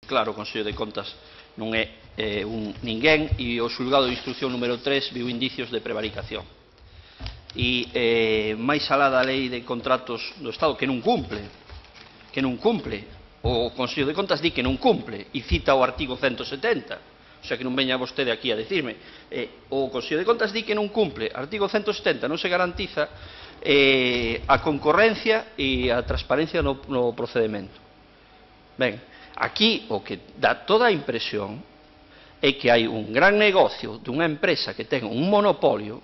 claro, o Consello de Contas non é un ninguén, e o xulgado de instrucción número 3 viu indicios de prevaricación. E máis alá da lei de contratos do Estado, que non cumple, o Consello de Contas di que non cumple, e cita o artigo 170, o sea que non veña vostede aquí a decirme, o Consello de Contas di que non cumple, artigo 170, non se garantiza a concorrencia e a transparencia no procedimento. Ben, aquí o que dá toda a impresión é que hai un gran negocio dunha empresa que ten un monopolio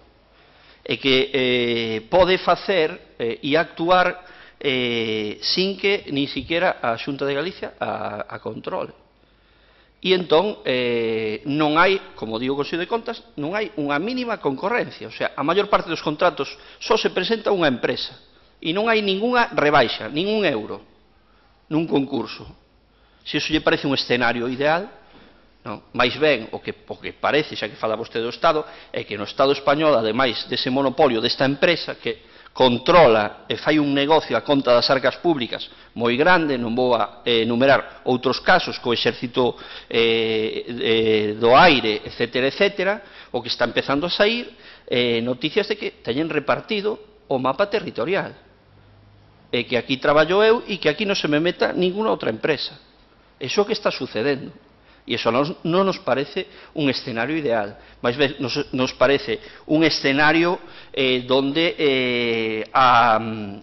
e que pode facer e actuar sin que ni siquiera a Xunta de Galicia a controle. E entón non hai, como digo o Consello de Contas, non hai unha mínima concorrencia. O sea, a maior parte dos contratos só se presenta unha empresa e non hai ningunha rebaixa, ningún euro nun concurso. Se iso lle parece un escenario ideal, non? Mais ben, o que parece, xa que fala vostede do Estado, é que no Estado español, ademais dese monopolio desta empresa que controla e fai un negocio a conta das arcas públicas moi grande, non vou a enumerar outros casos co exército do aire, etcétera, o que está empezando a sair noticias de que teñen repartido o mapa territorial, e que aquí traballo eu e que aquí non se me meta ninguna outra empresa. Iso é o que está sucedendo. E iso non nos parece un escenario ideal, máis ben nos parece un escenario donde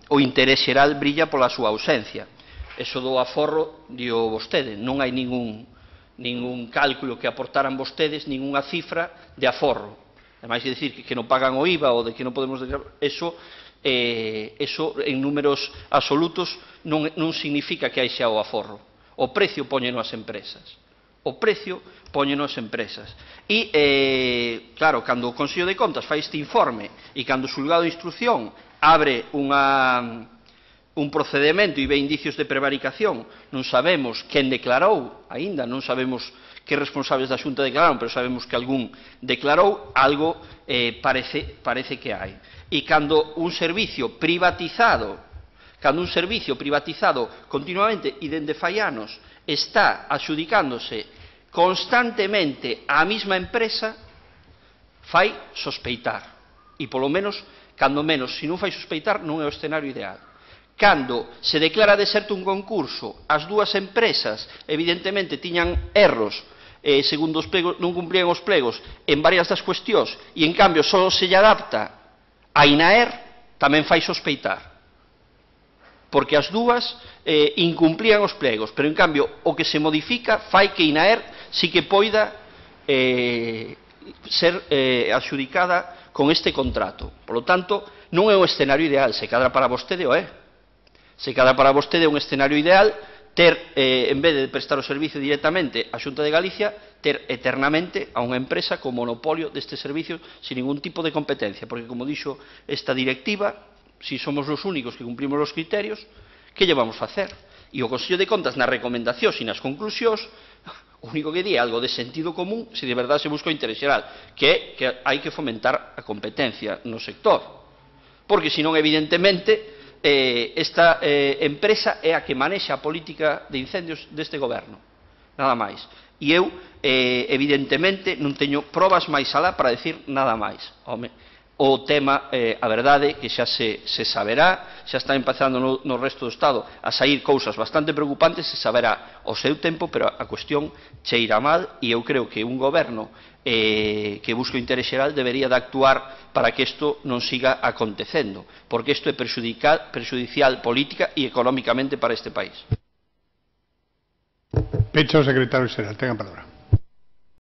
o interés xeral brilla pola súa ausencia. Eso do aforro, dio vostede, non hai ningún cálculo que aportaran vostedes, ninguna cifra de aforro. Ademais de dicir que non pagan o IVA ou de que non podemos declarar, eso en números absolutos non significa que hai xa o aforro. O precio póñeno as empresas. O precio póñeno as empresas. E, claro, cando o Consello de Contas fai este informe e cando o xulgado de instrucción abre un procedimento e ve indicios de prevaricación, non sabemos quen declarou, aínda non sabemos que responsables da Xunta declararon, pero sabemos que algún declarou, algo parece que hai. E cando un servicio privatizado continuamente e dende fai anos está adxudicándose constantemente á mesma empresa, fai sospeitar. E polo menos, cando menos, se non fai sospeitar, non é o escenario ideal. Cando se declara deserto un concurso, as dúas empresas evidentemente tiñan erros, segundo os plegos, non cumplían os plegos en varias das cuestións, e en cambio só se lle adapta a INAER, tamén fai sospeitar. Porque as dúas incumplían os plegos, pero en cambio o que se modifica fai que INAER sí que poida ser adxudicada con este contrato. Por lo tanto, non é o escenario ideal, se cadra para vostede o é. Se cadra para vostede un escenario ideal ter, en vez de prestar o servicio directamente á Xunta de Galicia, ter eternamente a unha empresa con monopolio deste servicio sin ningún tipo de competencia, porque como dixo esta directiva, si somos os únicos que cumplimos os criterios, que lle vamos a facer? E o Consello de Contas nas recomendacións e nas conclusións, o único que di é algo de sentido común se de verdade se busca o interés xeral, que é que hai que fomentar a competencia no sector, porque senón evidentemente esta empresa é a que manexa a política de incendios deste goberno, nada máis. E eu evidentemente non teño probas máis alá para decir nada máis. O tema, a verdade, que xa se saberá, xa está empezando no resto do Estado a sair cousas bastante preocupantes, se saberá o seu tempo, pero a cuestión cheira mal e eu creo que un goberno que busca o interés xeral debería de actuar para que isto non siga acontecendo, porque isto é perxudicial política e económicamente para este país. Pecho, secretario xeral, tenga a palabra.